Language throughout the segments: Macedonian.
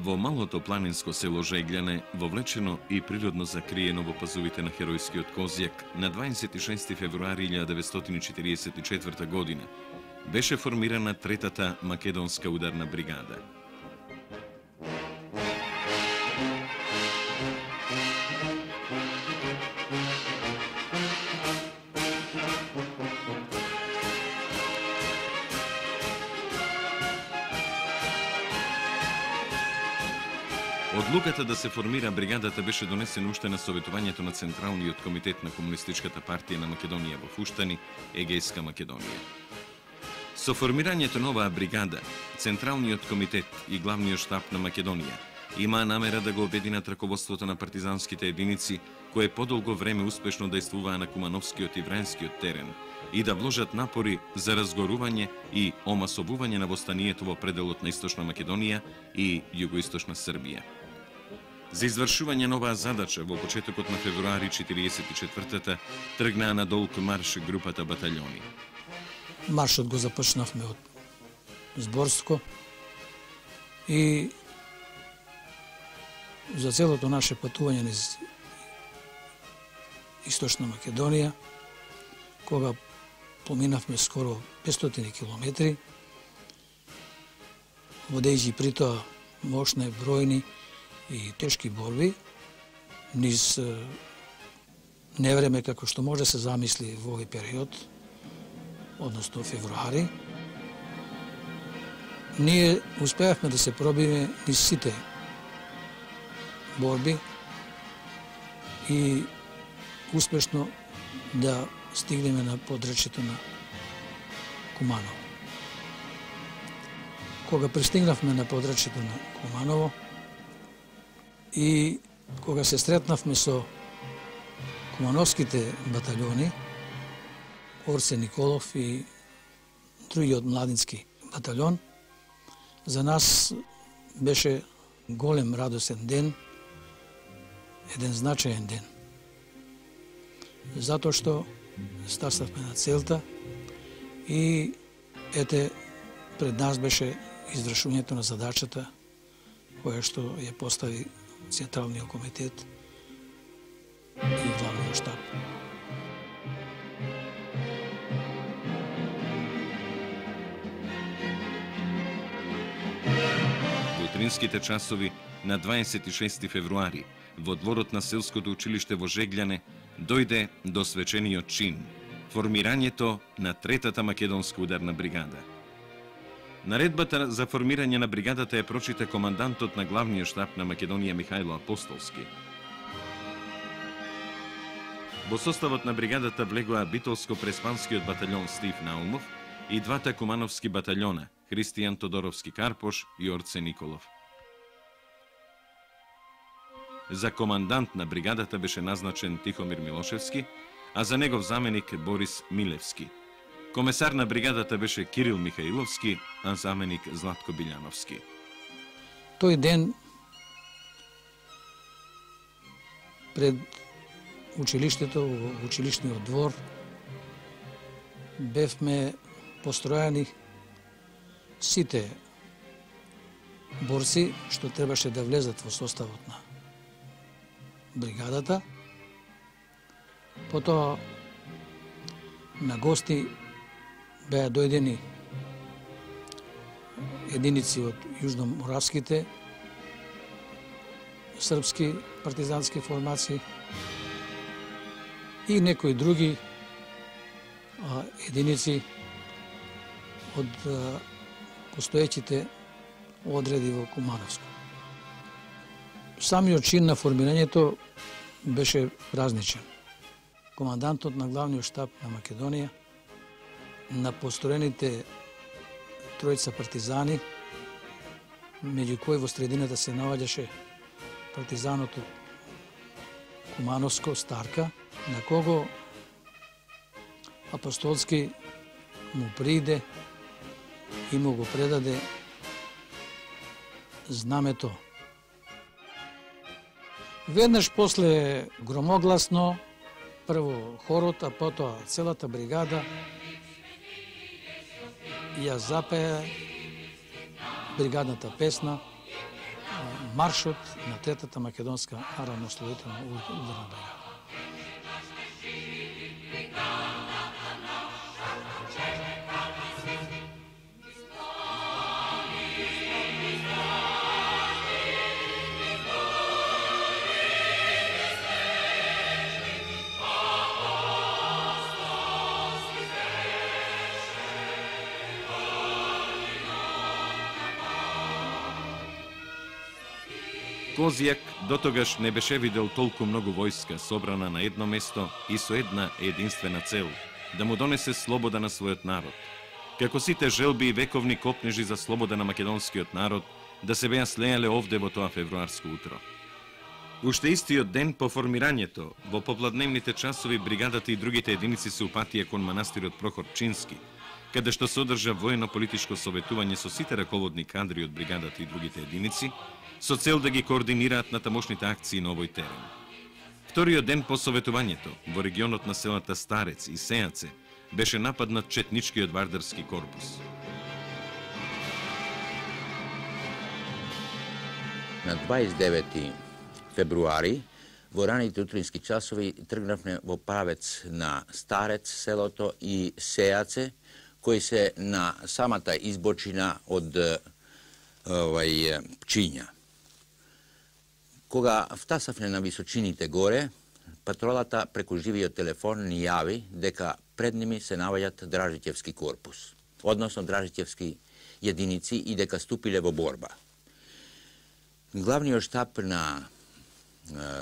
Во малото планинско село Жегляне, вовлечено и природно закриено во пазувите на херојскиот Козјак, на 26 февруари 1944 година беше формирана третата македонска ударна бригада. Одлуката да се формира бригадата беше донесена уште на советувањето на Централниот комитет на Комунистичката партија на Македонија во Фуштани, Егејска Македонија. Со формирањето на оваа бригада, Централниот комитет и главниот штаб на Македонија имаа намера да го обединат раководството на партизанските единици, кои подолго време успешно дејствуваа на Кумановскиот и Врајнскиот терен, и да вложат напори за разгорување и омасовување на востанието во пределот на Источна Македонија и Југоисточна Србија. За извршување на оваа задача во почетокот на февруари 44-та тргнаа на долг марш групата батальони. Маршот го започнавме од Зборско и за целото наше патување низ Источна Македонија, кога поминавме скоро 500 километри, водејќи при тоа мощни, бројни и тешки борби, низ невреме како што може се замисли во овој период, односно февруари, ние успеавме да се пробиме низ сите борби и успешно да стигнеме на подречјето на Куманово. Кога пристигнавме на подречјето на Куманово и кога се сретнавме со кумановските батальони, Орсе Николов и другиот младински батальон, за нас беше голем радосен ден, еден значаен ден. Затоа што стартавме на целта и ете пред нас беше извршувањето на задачата која што ја постави Централниот комитет и главниот штаб. Во утринските часови на 26 февруари во дворот на селското училиште во Жегляне дојде до свечениот чин – формирањето на третата македонска ударна бригада. Наредбата за формирање на бригадата ја прочита командантот на главниот штаб на Македонија Михајло Апостолски. Во составот на бригадата влегоа Битолско-Преспанскиот батальон Стив Наумов и двата кумановски батальона Христијан Тодоровски Карпош и Орце Николов. За командант на бригадата беше назначен Тихомир Милошевски, а за негов заменик Борис Милевски. Комесар на бригадата беше Кирил Михаиловски, а заменик Златко Билјановски. Тој ден пред училиштето, во училишниот двор, бевме постројани сите борци што требаше да влезат во составот на бригадата. Потоа на гости беа дојдени единици од јужноморавските српски партизански формации и некои други единици од постоеќите одреди во Кумановско. Самиот чин на формирањето беше празничен. Командантот на главниот штаб на Македонија, на построените тројца партизани, меѓу кои во средината се наоѓаше партизанот од Кумановско, Старка, на кого Апостолски му приде и му го предаде знамето. Веднаш после громогласно, прво хорот, а потоа целата бригада ја запеа бригадната песна маршот на третата македонска аравно-ослободителна ударна бригада. Козјак дотогаш не беше видел толку многу војска собрана на едно место и со една единствена цел – да му донесе слобода на својот народ. Како сите желби и вековни копнежи за слобода на македонскиот народ да се беа слеале овде во тоа февруарско утро. Уште истиот ден по формирањето, во попладневните часови бригадата и другите единици се упатија кон манастирот Прохорчински, каде што се одржа воено-политичко советување со сите раководни кадри од бригадата и другите единици, со цел да ги координираат на тамошните акции на овој терен. Вториот ден по советувањето, во регионот на селата Старец и Сејаце, беше нападнат четничкиот вардарски корпус. На 29 февруари, во раните утрински часови, тргнавме во правец на Старец, селото и Сејаце, кои се на самата избочина од Пчиња. Кога втасавме на височините горе, патролата преку живиот телефон ни јави дека пред ними се наоѓаат Дражитевски корпус, односно Дражитевски единици и дека ступиле во борба. Главниот штаб на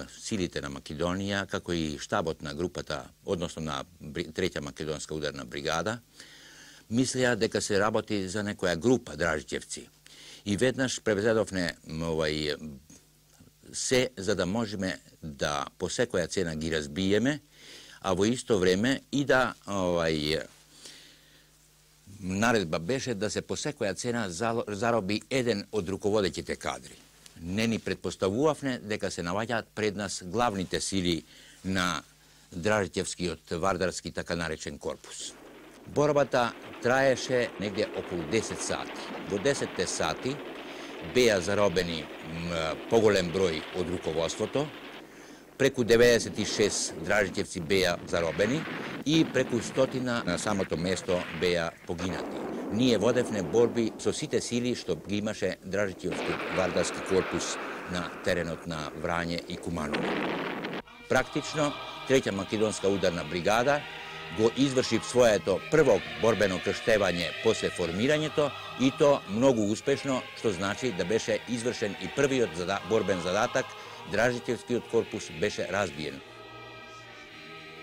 силите на Македонија, како и штабот на групата, односно на Трета македонска ударна бригада, мислеа дека се работи за некоја група Дражитевци. И веднаш превзедовне се за да можеме да по секоја цена ги разбиеме, а во исто време и да наредба беше да се по секоја цена зароби еден од руководеќите кадри. Не ни предпоставувавме дека се наоѓаат пред нас главните сили на Дражитевскиот вардарски така наречен корпус. Борбата траеше негде околу 10 сати. Во 10 сати беа заробени поголем број од руководството, преку 96 Дражитевци беа заробени и преку 100 на самото место беа погинати. Ние водевме борби со сите сили што ги имаше Дражитевскиот вардарски корпус на теренот на Врање и Куманово. Практично, Трета македонска ударна бригада го изврши своето прво борбено крштевање после формирањето и то многу успешно, што значи да беше извршен и првиот борбен задатак, Дражитевскиот корпус беше разбиен.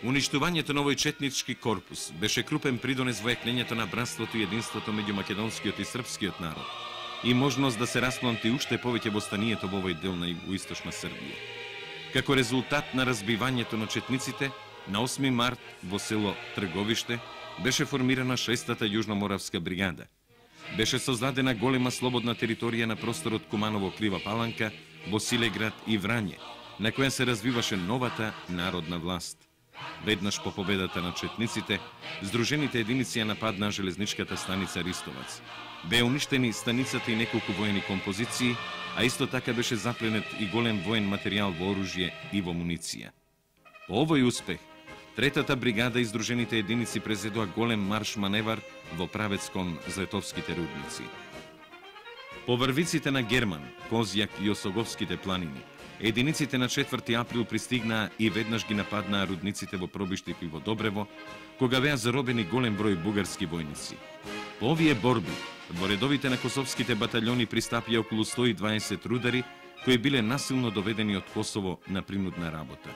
Уништувањето на овој четнички корпус беше крупен придонес во јакнењето на братството и единството меѓу македонскиот и српскиот народ и можност да се распланти уште повеќе востанието во овој дел на југоисточна Србија. Како резултат на разбивањето на четниците, на 8 март во село Трговиште беше формирана 6-та јужноморавска бригада. Беше создадена голема слободна територија на просторот Куманово Клива Паланка, Босилеград и Врање, на која се развиваше новата народна власт. Веднаш по победата на четниците, здружените единици ја нападнаа железничката станица Ристовац. Беа уништени станицата и неколку воени композиции, а исто така беше запленет и голем воен материјал во оружје и во муниција. По овој успех, Третата бригада и здружените единици презедоа голем марш-маневар во правец кон Злетовските рудници. По врвиците на Герман, Козјак и Осоговските планини, единиците на 4 април пристигнаа и веднаш ги нападнаа рудниците во Пробиштик и во Добрево, кога беа заробени голем број бугарски војници. По овие борби, во редовите на косовските батальони пристапија околу 120 рудари, кои биле насилно доведени од Косово на принудна работа.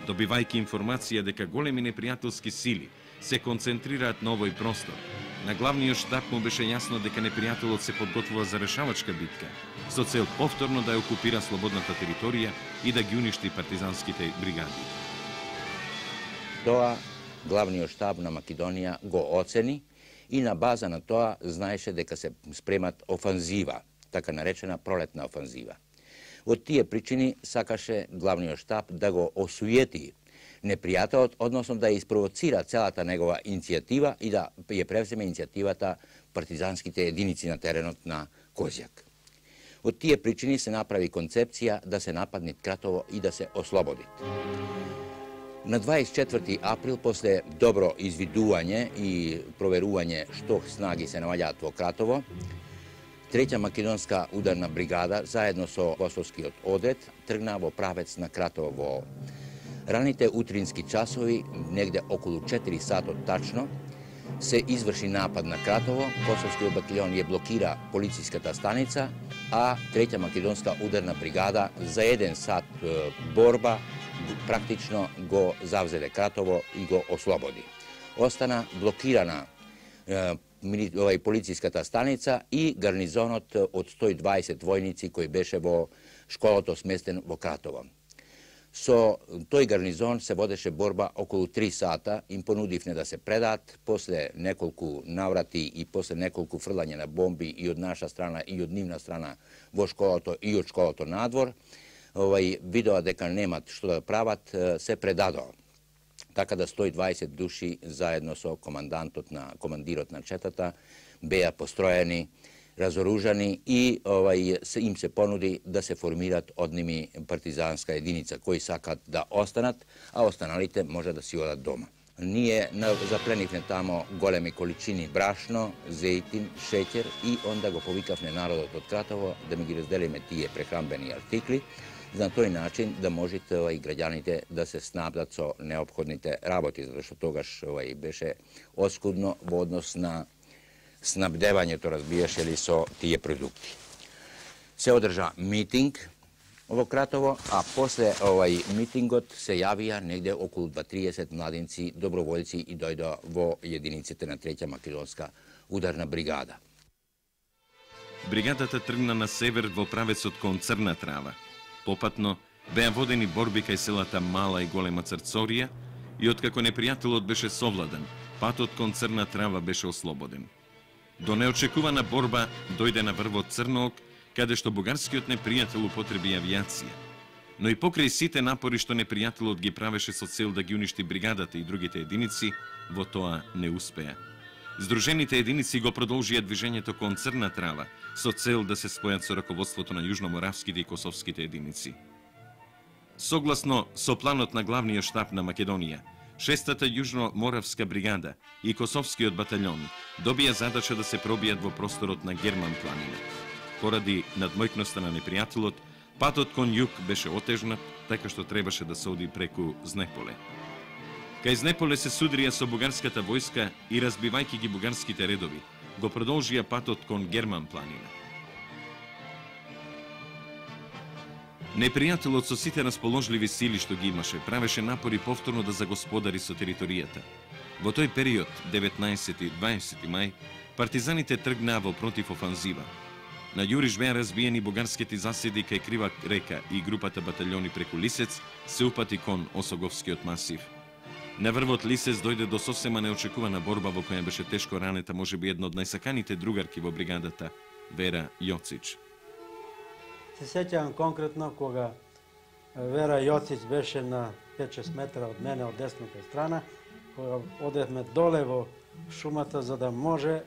Добивајќи информација дека големи непријателски сили се концентрираат на овој простор, на главниот штаб му беше јасно дека непријателот се подготвува за решавачка битка, со цел повторно да ја окупира слободната територија и да ги уништи партизанските бригади. Тоа главниот штаб на Македонија го оцени и на база на тоа знаеше дека се спремат офанзива, така наречена пролетна офанзива. Од тие причини сакаше главниот штаб да го осуети непријателот, односно да ја испровоцира целата негова иницијатива и да ја превземе иницијативата партизанските единици на теренот на Козјак. Од тие причини се направи концепција да се нападне Кратово и да се ослободи. На 24. април, после добро извидување и проверување што снаги се наоѓаат во Кратово, 3-та македонска ударна бригада, заедно со косовскиот одред, тргна во правец на Кратово. Во раните утрински часови, негде околу 4 сатот тачно, се изврши напад на Кратово, косовскиот батальон ја блокира полициската станица, а 3-та македонска ударна бригада за 1 сат борба практично го завзеде Кратово и го ослободи. Остана блокирана полициската станица и гарнизонот од 120 војници кој беше во школото сместен во Кратово. Со тој гарнизон се водеше борба околу 3 сата, им понудивме да се предаат, после неколку наврати и после неколку фрлање на бомби и од наша страна и од нивна страна во школото и од школото надвор, видоа дека немат што да прават, се предадоа. Така да 120 души заедно со командирот на четата беа построени, разоружани и им се понуди да се формират од ними партизанска единица, кои сакат да останат, а останалите може да си одат дома. Ние запленивме тамо големи количини брашно, зејтин, шеќер и онда го повикавме народот од Кратово да ми ги разделиме тие прехранбени артикли, на тој начин да можете и граѓаните да се снабдат со неопходните работи, зашто тогаш беше оскудно во однос на снабдевањето, разбираше ли, со тие продукти. Се одржа митинг во Кратово, а после митингот се јавија негде околу 30 младинци, доброволци и дојдоа во единиците на 3-та македонска ударна бригада. Бригадата тргна на север во правецот кон Црна Трава. Попатно беа водени борби кај селата Мала и Голема Црцорија и откако непријателот беше совладан, патот кон Црна Трава беше ослободен. До неочекувана борба дојде на врвот Црноок, каде што бугарскиот непријател употреби авијација. Но и покрај сите напори што непријателот ги правеше со цел да ги уништи бригадата и другите единици, во тоа не успеа. Здружените единици го продолжија движењето кон Црна Трава со цел да се спојат со раководството на јужноморавските и косовските единици. Согласно со планот на главниот штаб на Македонија, 6-та јужноморавска бригада и косовскиот батальон добија задача да се пробијат во просторот на Герман планина. Поради надмојкноста на непријателот, патот кон југ беше отежнат, така што требаше да се оди преку Знеполе. Кај Знеполе се судрија со бугарската војска и разбивајќи ги бугарските редови, го продолжија патот кон Герман планина. Непријателот со сите расположливи сили што ги имаше, правеше напори повторно да загосподари со територијата. Во тој период, 19 и 20 мај, партизаните тргнаа во противофанзива. На јуриш беа разбиени бугарските заседи кај Крива река и групата батальони преку Лисец се упати кон Осоговскиот масив. На врвот Лисец дојде до сосема неочекувана борба во која беше тешко ранета можеби една од најсаканите другарки во бригадата, Вера Јоцич. Се сеќавам конкретно кога Вера Јоцич беше на 5-6 метра од мене од десната страна, кога одевме доле во шумата за да може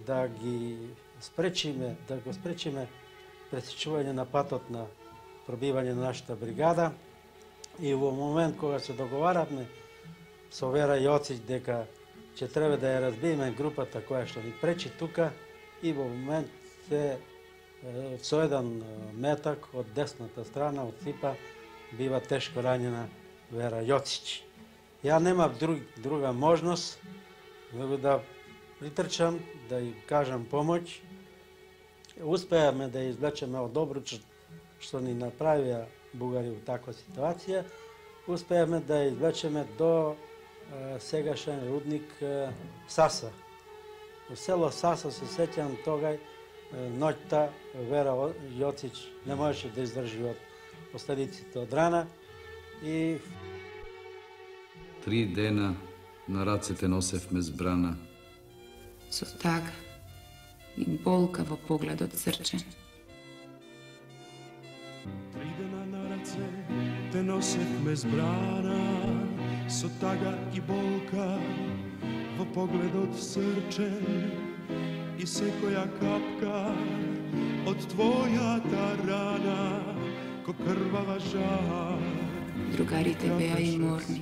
да ги спречиме, да го спречиме пресечување на патот на пробивање на нашата бригада. И во момент кога се договаравме со Вера Јоцич дека ќе треба да ја разбиеме групата која што ни пречи тука, и во момент се со еден метак од десната страна од ципа бива тешко ранена Вера Јоцич. Ја немав друга можност него да притрчам, да ја кажам помоќ. Успеавме да ја извлечеме од обруч што ни направија бугари во таква ситуација. Успеавме да ја извлечеме до сегашен рудник Саса. Во село Саса се сеќавам тогај ноќта Вера Јоцич не можеше да издржи од последиците од рана и 3 дена на рацете носевме збрана. Со тага и болка во погледот срчен. 3 дена на раце те носевме збрана, со тага и болка во погледот срчен, и секоја капка од твојата рана, ко крвава жар. Другарите беа и морни.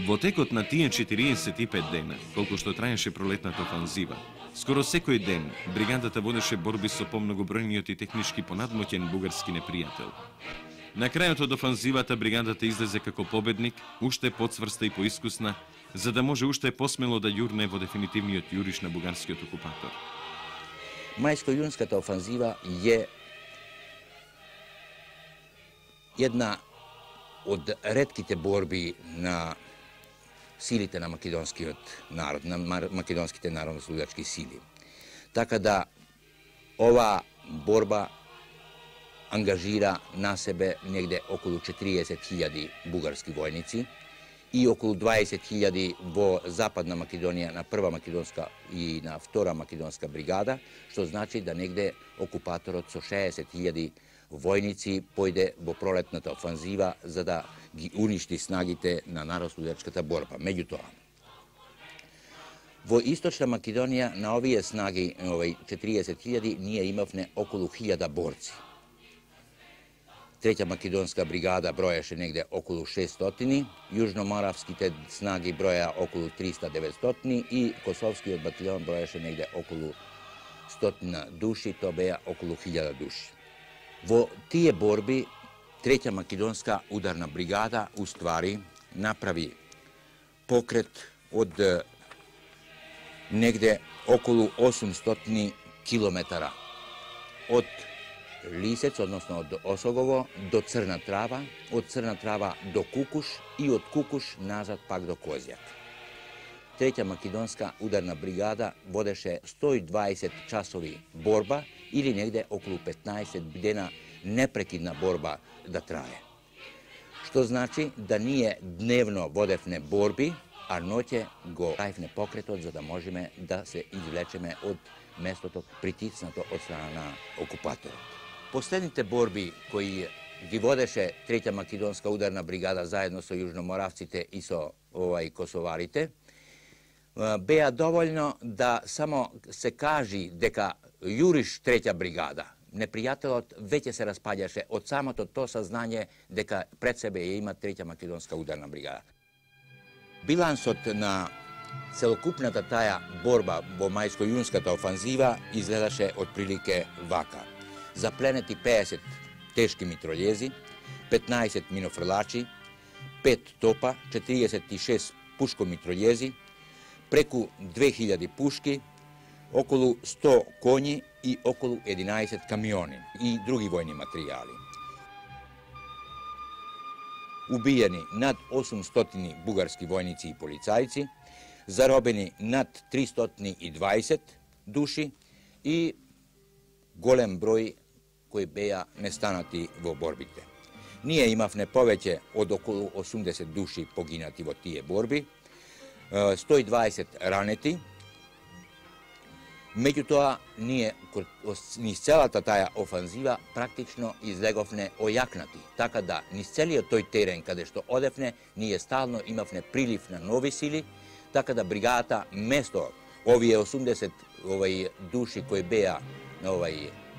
Во текот на тие 45 дена, колку што траеше пролетната офанзива, скоро секој ден бригадата водеше борби со помногобројниот и технички понадмоќен бугарски непријател. На крајот од офанзивата бригадата излезе како победник, уште поцврста и поискусна, за да може уште посмело да јурне во дефинитивниот јуриш на бугарскиот окупатор. Мајско-јунската офанзива е една од ретките борби на силите на македонскиот народ, на македонските народно-слугачки сили. Така да ова борба ангажира на себе негде околу 40.000 бугарски војници и околу 20.000 во Западна Македонија на прва македонска и на втора македонска бригада, што значи да негде окупаторот со 60.000 војници појде во пролетната офанзива за да ги уништи снагите на народно-слугачката борба. Меѓутоа, во Источна Македонија на овие снаги, 40.000, ние имавме околу 1000 борци. Треќа македонска бригада броеше негде околу 600, јужноморавските снаги броја околу 300-900 и Косовскиот батальон броеше негде околу 100 души, тоа беа околу 1000 души. Во тие борби, Треќа македонска ударна бригада уствари направи покрет од негде околу 800 километара од Лисец, односно од Осогово до Црна Трава, од Црна Трава до Кукуш и од Кукуш назад пак до Козјак. Треќа македонска ударна бригада водеше 120 часови борба или негде околу 15 дена непрекидна борба да трае. Што значи да ние дневно водевне борби, а ноќе го правивне покретот за да можеме да се извлечеме од местото притиснато од страна на окупаторот. Последните борби кои ги водеше Треќа македонска ударна бригада заедно со јужноморавците и со косоварите, беа доволно да само се кажи дека јуриш Треќа бригада. Непријателот веќе се распаѓаше од самото то сознање дека пред себе ја има Треќа македонска ударна бригада. Билансот на целокупната таа борба во мајско-јунската офанзива изгледаше отприлике вака. Запленети 50 тешки митролјези, 15 минофрлачи, 5 топа, 46 пушкомитролјези, преку 2000 пушки, околу 100 коњи и околу 11 камиони и други војни материјали. Убиени над 800 бугарски војници и полицајци, заробени над 320 души и голем број кои беа нестанати во борбите. Ние имавме повеќе од околу 80 души погинати во тие борби, 120 ранети. Меѓутоа, ние низ целата таа офанзива практично излеговне ојакнати, така да низ целиот тој терен каде што одевне, ние стално имавне прилив на нови сили, така да бригадата место овие 80 души кои беа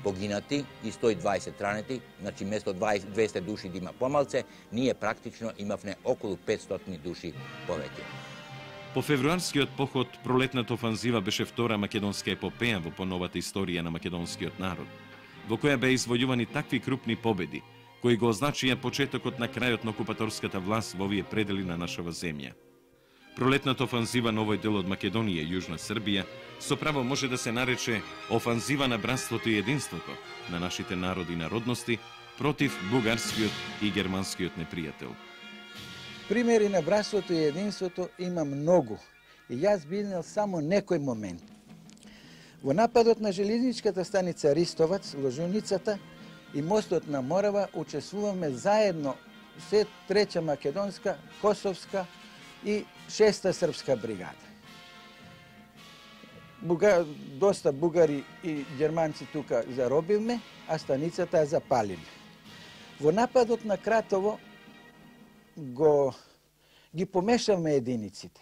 погинати и 120 ранети, значи место 200 души да има помалце, ние практично имавне околу 500 души повеќе. По февруарскиот поход, пролетната офанзива беше втора македонска епопеја во поновата историја на македонскиот народ, во која беа извојувани такви крупни победи, кои го означија почетокот на крајот на окупаторската власт во овие предели на нашава земја. Пролетната офанзива на овој дел од Македонија и Јужна Србија со право може да се нарече офанзива на братството и единството на нашите народи и народности против бугарскиот и германскиот непријател. Примери на братството и единството има многу и јас биднел само некој момент. Во нападот на железничката станица Ристовац, Ложуницата и мостот на Морава учествуваме заедно се Треќа македонска, Косовска и 6-та српска бригада. Доста бугари и германци тука заробивме, а станицата ја запалиле. Во нападот на Кратово ги помешавме единиците.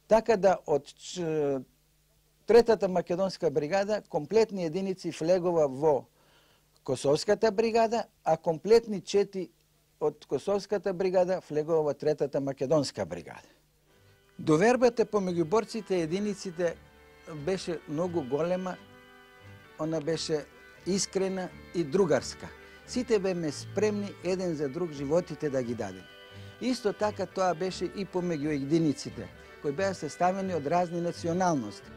Така да од Третата македонска бригада, комплетни единици влегува во Косовската бригада, а комплетни 4 од Косовската бригада влегува во Третата македонска бригада. Довербата помеѓу борците и единиците беше многу голема, она беше искрена и другарска. Сите беме спремни еден за друг животите да ги дадеме. Исто така тоа беше и помеѓу единиците, кои беа составени од разни националности.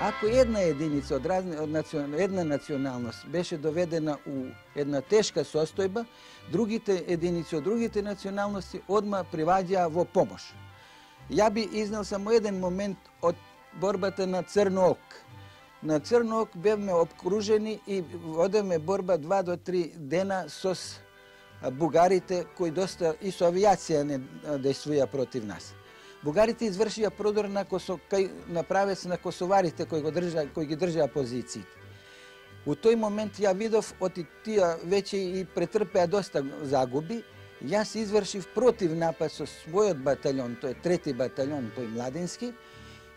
Ако една единица од една националност беше доведена у една тешка состојба, другите единици од другите националности одма приваѓаа во помош. Ја би изнел само еден момент од борбата на Црноок. На Црноок бевме обкружени и водеме борба 2 до 3 дена со бугарите кои доста и со авиација не действуја против нас. Бугарите извршија продор на правец на косоварите кои ги држаа позициите. У тој момент ја видов оти тие веќе и претрпеа доста загуби. Јас извршив против напад со својот батальон, тој трети батальон, тој младински,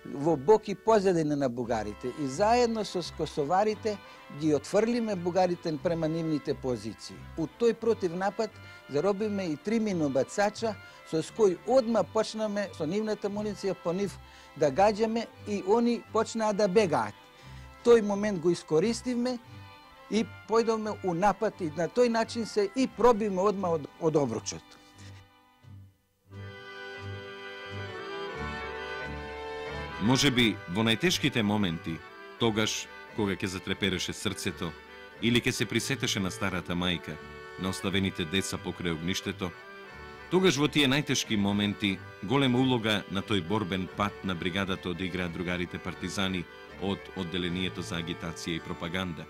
во бок и позадина на бугарите. И заедно со косоварите ги отфрлиме бугарите према нивните позиции. У тој против напад заробиме и 3 минобацача, со кој одма почнаме со нивната муниција по нив да гаѓаме и они почнаа да бегаат. Тој момент го искористивме и појдовме у напад и на тој начин се и пробиме одма од обручот. Може би во најтешките моменти, тогаш кога ќе затрепереше срцето или ќе се присетеше на старата мајка, на оставените деца покрај огништето, тогаш во тие најтешки моменти голема улога на тој борбен пат на бригадата одиграат другарите партизани од одделението за агитација и пропаганда,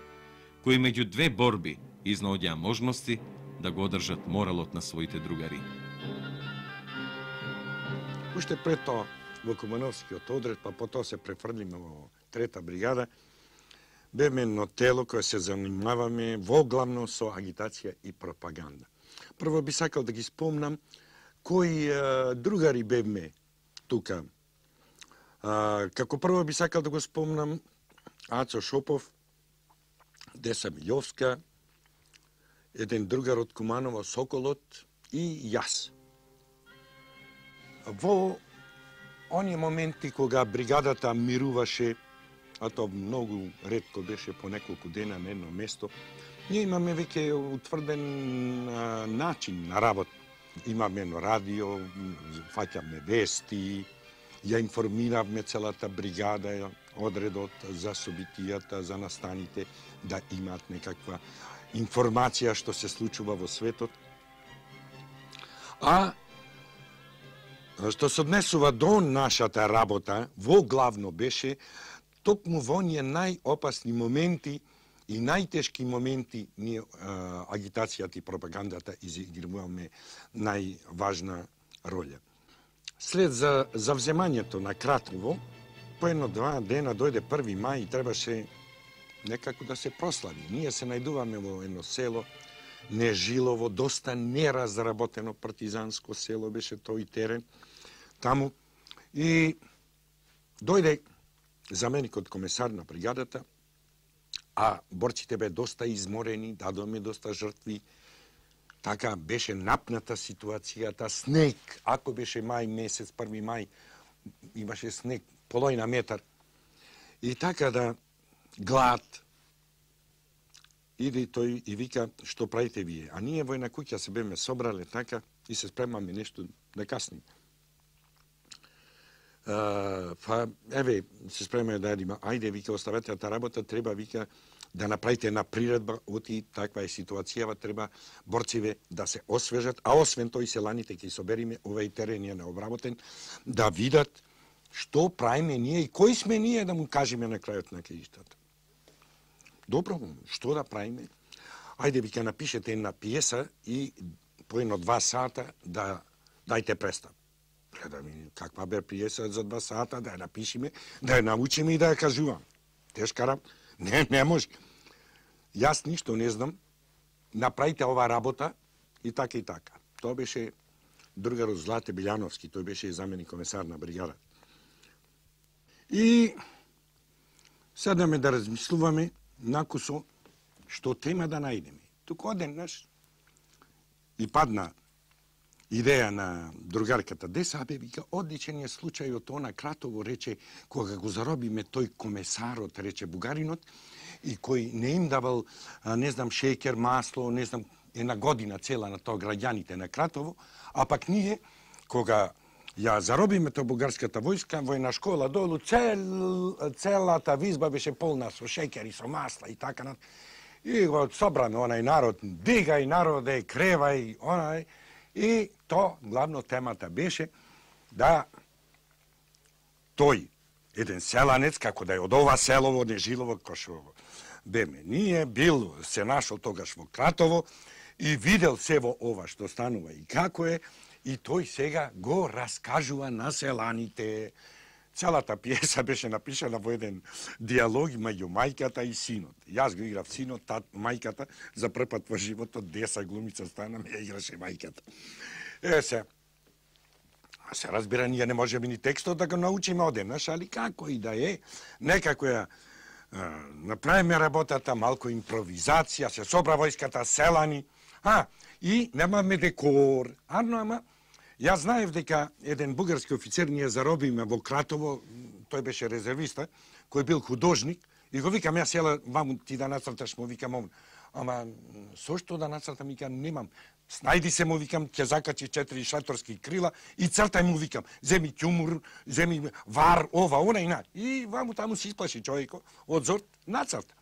кои меѓу две борби изнаоѓаа можности да го одржат моралот на своите другари. Уште пред тоа во Кумановскиот одред, па потоа се префрлиме во Трета бригада, беме едно тело кое се занимаваме воглавно со агитација и пропаганда. Прво би сакал да ги спомнам кои другари бевме тука. Како прво би сакал да го спомнам Ацо Шопов, Деса Милјовска, еден другар од Куманово, Соколот и јас. Во оние моменти кога бригадата мируваше, а тоа многу ретко беше по неколку дена на едно место, ние имаме веќе утврден начин на работа. Имаме едно радио, фаќаме вести, ја информиравме целата бригада, одредот за собитијата, за настаните, да имаат некаква информација што се случува во светот. А што се однесува до нашата работа, во главно беше токму во оние најопасни моменти и најтешки моменти ние агитацијата и пропагандата изигруваме најважна роља. След завземањето на Кратово, по едно-два дена дојде 1 мај и требаше некако да се прослави. Ние се најдуваме во едно село, Нежилово, доста неразработено партизанско село беше тој терен таму. И дојде заменикот комесар на бригадата, а борците бе доста изморени, дадоме доста жртви. Така беше напната ситуацијата, снег. Ако беше мај месец, 1 мај, имаше снег, половина метар. И така да глад. Иде тој и вика, што правите вие? А ние во една куќа се беме собрале така и се спремаме нешто да касним. Па, еве, се спремаме да јадиме. Ајде, вика, оставете таа работа, треба, вика, да направите една приредба, оти таква е ситуацијава, треба борциве да се освежат, а освен тој селаните ќе собериме, овај терен е необработен, да видат што правиме ние и кои сме ние да му кажеме на крајот на краиштата. Добро, што да правиме? Ајде, вика, напишете една пиеса и по 1-2 сата да дајте представ. Гледаме каква бе пиеса за 2 сата, да ја напишеме, да ја научиме и да ја кажуваме. Тешка работа. Не може. Јас ништо не знам, направите ова работа и така и така. Тоа беше другарот Злате Билјановски, тој беше заменик комесар на бригада. И седнаме да размислуваме накусо што тема да најдеме. Туку одеднаш и падна идеја на другарката Деса, вика, одличен е случајот, она Кратово рече, кога го заробиме тој комесарот, рече бугаринот, и кој не им давал, не знам, шеќер, масло, не знам, една година цела на тоа граѓаните на Кратово, а пак ние, кога ја заробиме тоа бугарската војска, војна школа долу, целата визба беше полна со шеќер и со масла и така над. И го собраме онај народ, дигај народе, кревај, онај. И то, главно темата беше да тој, еден селанец, како да е од ова селово, Нежилово, кој што беме ние, бил, се нашол тогаш во Кратово и видел се во ова што станува и како е, и тој сега го раскажува на селаните. Целата пиеса беше напишана во еден диалог меѓу мајката и синот. Јас го играв синот, мајката, за прв пат во животот Деса глумица стана, ме играше мајката. Се разбира, ние не можеме ни текстот да го научиме одеднаш, али како и да е, некако ја направиме работата, малку импровизација, се собра војската, селани, и немаме декор, ама јас знаев дека еден бугарски офицер ние заробиме во Кратово, тој беше резервиста, кој бил художник, и го викам, јас ела, ваму ти да нацрташ, му викам, ама со што да нацртам, викам, немам. Снајди се, му викам, ќе закачи 4 шаторски крила и цртај, му викам, земи ќумур, земи вар, ова, она и на. И ваму таму се исплаши човеко, од зорт, нацрта.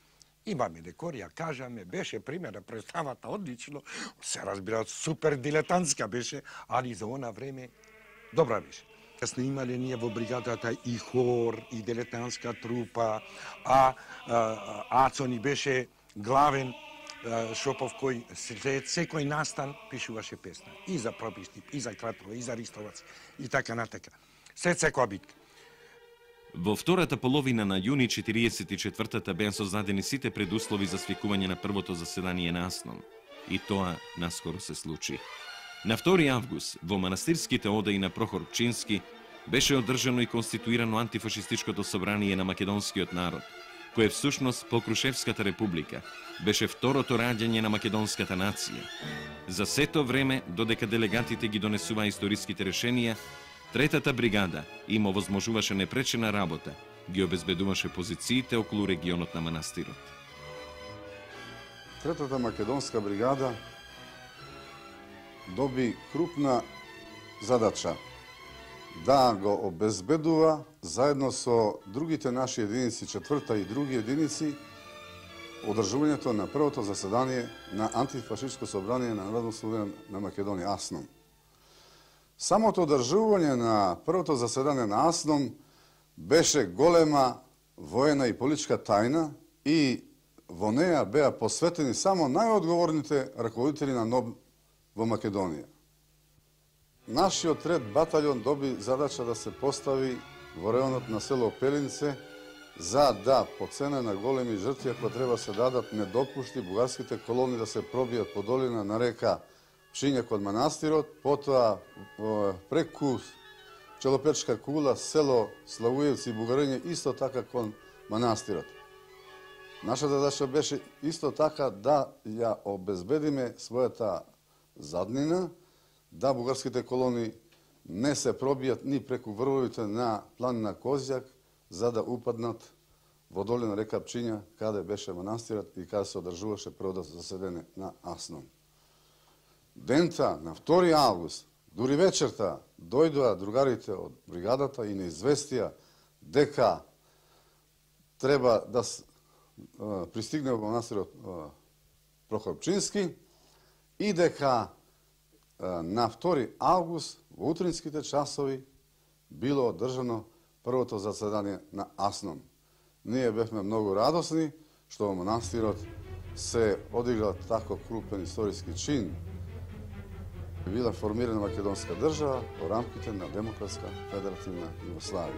Имаме декор, ја кажаме, беше примера, представата одлично, се разбира, супер дилетантска беше, али за она време добра беше. Сме имале ние во бригадата и хор, и дилетантска трупа, Ацо ни беше главен Шопов, кој след секој настан пишуваше песна. И за Пропиштип, и за Кратово, и за Ристовац, и така натака. След секоја битка. Во втората половина на јуни 44-та беа создадени сите предуслови за свикување на првото заседание на АСНОМ. И тоа наскоро се случи. На 2 август во манастирските одаи на Прохор Пчински беше одржано и конституирано антифашистичкото собрание на македонскиот народ, кое всушност по Крушевската република беше второто раѓање на македонската нација. За сето време, додека делегатите ги донесуваа историските решенија, Третата бригада им овозможуваше непречена работа, ги обезбедуваше позициите околу регионот на манастирот. Третата македонска бригада доби крупна задача да го обезбедува заедно со другите наши единици, четврта и други единици, одржувањето на првото заседание на антифашистско собрание на Народно собрание на Македонија, АСНОМ. Самото одржување на првото заседание на АСНОМ беше голема воена и политичка тајна и во неја беа посветени само најодговорните раководители на НОБ во Македонија. Нашиот ред батальон доби задача да се постави во районот на село Пелинце за да, по цена на големи жртви, ако треба се дадат, не допушти бугарските колони да се пробијат по долина на река Пчиња код манастирот, потоа преку Челопечка кула, село Славујевци и Бугариње, исто така кон манастирот. Нашата задача беше исто така да ја обезбедиме својата заднина, да бугарските колони не се пробијат ни преку врвовите на планина Козјак, за да упаднат во долина река Пчиња, каде беше манастирот и каде се одржуваше првото заседание на АСНОМ. Дента, на 2 август, дури вечерта, дојдоа другарите од бригадата и не известија дека треба да пристигне во манастирот Прохор Пчински и дека на 2 август во утринските часови било одржано првото заседание на АСНОМ. Ние бевме многу радосни што во манастирот се одиграл тако крупен историски чин. Била формирана македонска држава во рамките на Демократска федеративна Југославија.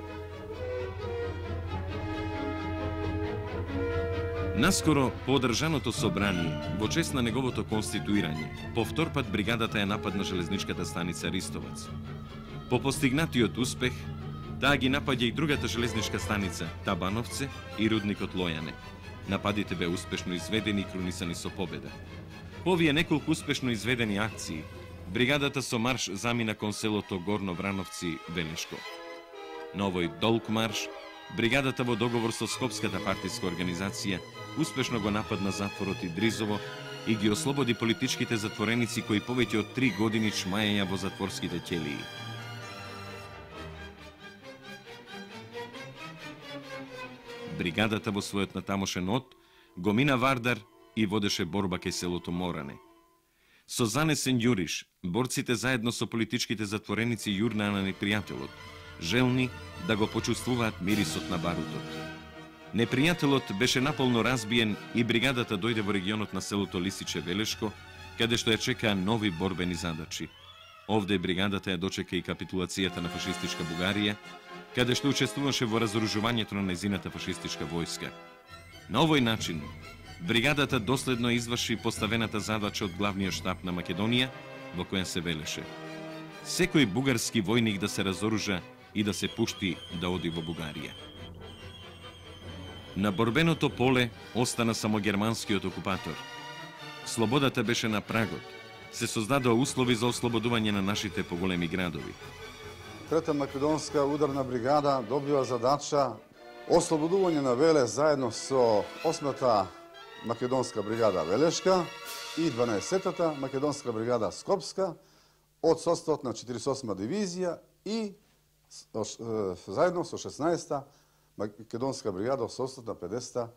Наскоро, по одржаното собрание, во чест на неговото конституирање, повтор пат бригадата ја нападна железничката станица Ристовац. По постигнатиот успех, таа ги напаѓа и другата железничка станица, Табановце и рудникот Лојане. Нападите беа успешно изведени и крунисани со победа. По овие неколку успешно изведени акции, бригадата со марш замина кон селото Горно Врановци, Велешко. На овој долг марш, бригадата во договор со Скопската партиска организација успешно го нападна затворот Идризово и ги ослободи политичките затвореници кои повеќе од 3 години чмаеја во затворските ќелии. Бригадата во својот натамошен од го мина Вардар и водеше борба кај селото Моране. Со занесен јуриш, борците заедно со политичките затвореници јурнаа на непријателот, желни да го почувствуваат мирисот на барутот. Непријателот беше наполно разбиен и бригадата дојде во регионот на селото Лисиче Велешко, каде што ја чекаа нови борбени задачи. Овде бригадата ја дочека и капитулацијата на фашистичка Бугарија, каде што учествуваше во разоружувањето на нејзината фашистичка војска. На овој начин, бригадата доследно изврши поставената задача од главниот штаб на Македонија, во која се велеше: секој бугарски војник да се разоружа и да се пушти да оди во Бугарија. На борбеното поле остана само германскиот окупатор. Слободата беше на прагот. Се создадоа услови за ослободување на нашите поголеми градови. Трета македонска ударна бригада добива задача ослободување на Веле заедно со 8-та македонска бригада Велешка и 12-та македонска бригада Скопска од составот на 48-ма дивизија и заедно со 16-та македонска бригада од составот на 50-та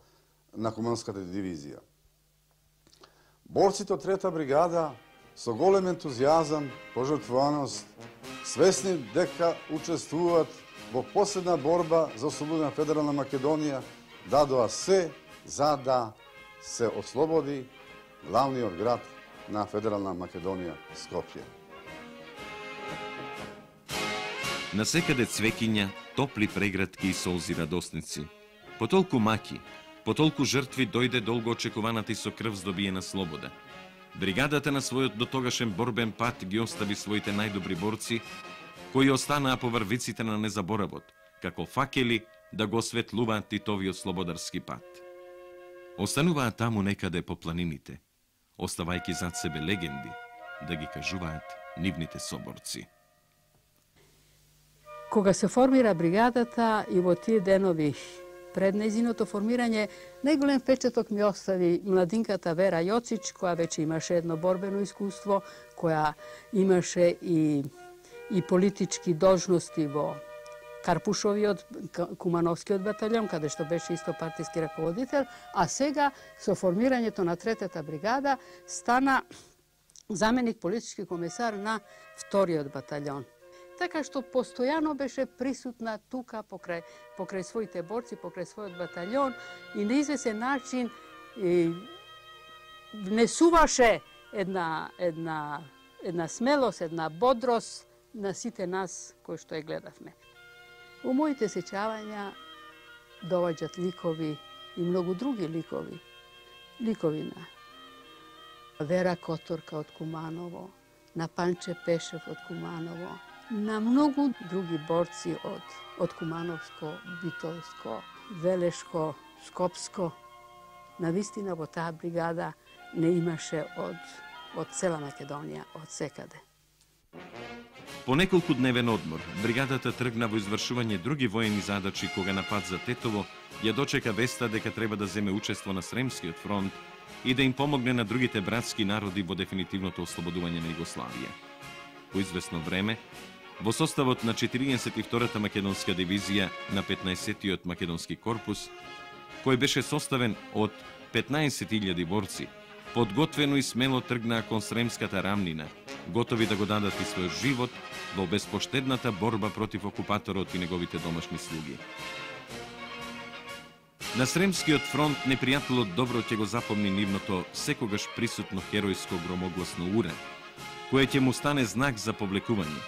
на Куманската дивизија. Борците од трета бригада со голем ентузијазам, пожртвуваност, свесни дека учествуваат во последна борба за ослободување на Федерална Македонија, дадоа се за да се ослободи главниот град на Федерална Македонија, Скопје. Насекаде цвеќиња, топли прегратки и солзи радосници. По толку маки, по толку жртви дојде долго очекуваната и со крв здобиена слобода. Бригадата на својот дотогашен борбен пат ги остави своите најдобри борци, кои останаа по врвиците на незаборавот, како факели да го осветлуваат Титовиот слободарски пат. Остануваат таму некаде по планините, оставајќи зад себе легенди, да ги кажуваат нивните соборци. Кога се формира бригадата и во тие денови пред нејзиното формирање, најголем впечаток ми остави младинката Вера Јоцич, која веќе имаше едно борбено искуство, која имаше и политички должности во Карпушовиот, Кумановскиот батальон, каде што беше исто партиски раководител, а сега со формирањето на третата бригада стана заменик политички комесар на вториот батальон. Така што постојано беше присутна тука покрај своите борци, покрај својот батальон и на извесен начин внесуваше една смелост, една бодрост на сите нас кои што ја гледавме. У моите сеќавања доаѓаат ликови и многу други ликови. Ликови на Вера Которка од Куманово, на Панче Пешев од Куманово, на многу други борци од Кумановско, Битолско, Велешко, Скопско. Навистина во таа бригада не имаше од цела Македонија, од секаде. По неколку дневен одмор, бригадата тргна во извршување други воени задачи кога на пат за Тетово ја дочека веста дека треба да земе учество на Сремскиот фронт и да им помогне на другите братски народи во дефинитивното ослободување на Југославија. По известно време, во составот на 42-та македонска дивизија на 15-тиот македонски корпус, кој беше составен од 15.000 борци, подготвено и смело тргнаа кон Сремската рамнина, готови да го дадат и својот живот во безпоштедната борба против окупаторот и неговите домашни слуги. На Сремскиот фронт непријателот добро ќе го запомни нивното секогаш присутно херојско громогласно уре, кое ќе му стане знак за повлекување.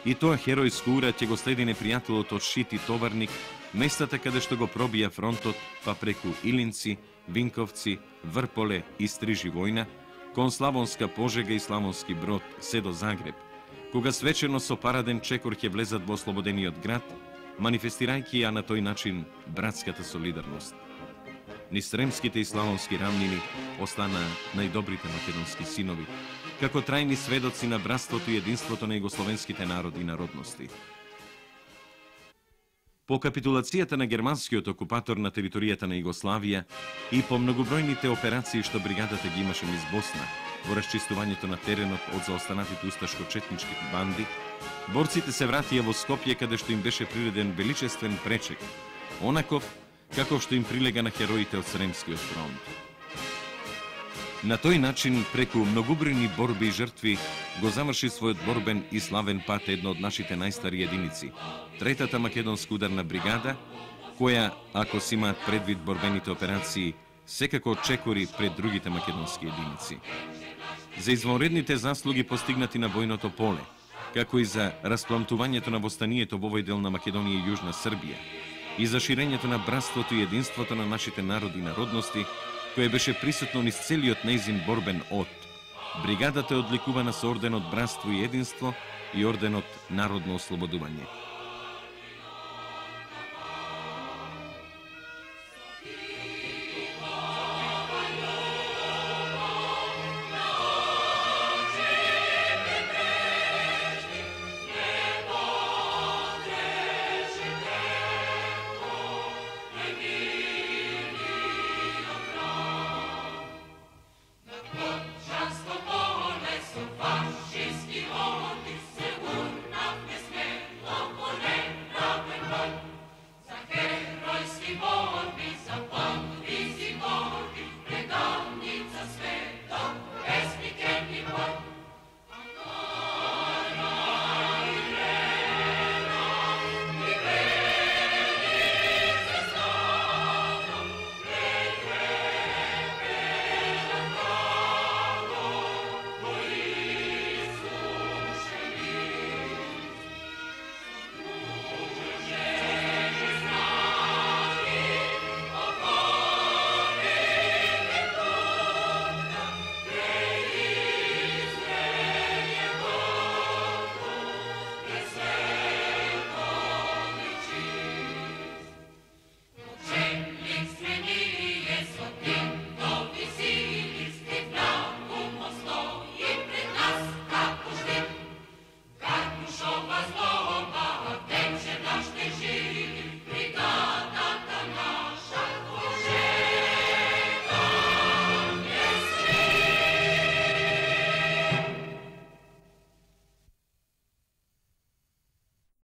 И тоа херојско ура ќе го следи непријателот од Шит и Товарник, местата каде што го пробија фронтот, па преку Илинци, Винковци, Врполе и Стриживојна, кон Славонска Пожега и Славонски Брод, се до Загреб, кога свечено со параден чекор ќе влезат во ослободениот град, манифестирајќи ја на тој начин братската солидарност. Низ Сремските и Славонски рамнини остана најдобрите македонски синови, како трајни сведоци на братството и единството на југословенските народи и народности. По капитулацијата на германскиот окупатор на територијата на Југославија и по многобројните операции што бригадата ги имаше низ Босна, во расчистувањето на теренот од заостанатите усташко-четнички банди, борците се вратија во Скопје, каде што им беше приреден величествен пречек, онаков каков што им прилега на хероите од Сремскиот фронт. На тој начин, преку многобројни борби и жртви, го заврши својот борбен и славен пат едно од нашите најстари единици, Третата македонска ударна бригада, која, ако си имаат предвид борбените операции, секако чекори пред другите македонски единици. За извонредните заслуги постигнати на војното поле, како и за распламтувањето на востанието во овој дел на Македонија и Јужна Србија, и за ширењето на братството и единството на нашите народи и народности, кое беше присутно низ целиот нејзин борбен од. Бригадата е одликувана со орденот Братство и единство и орденот Народно ослободување.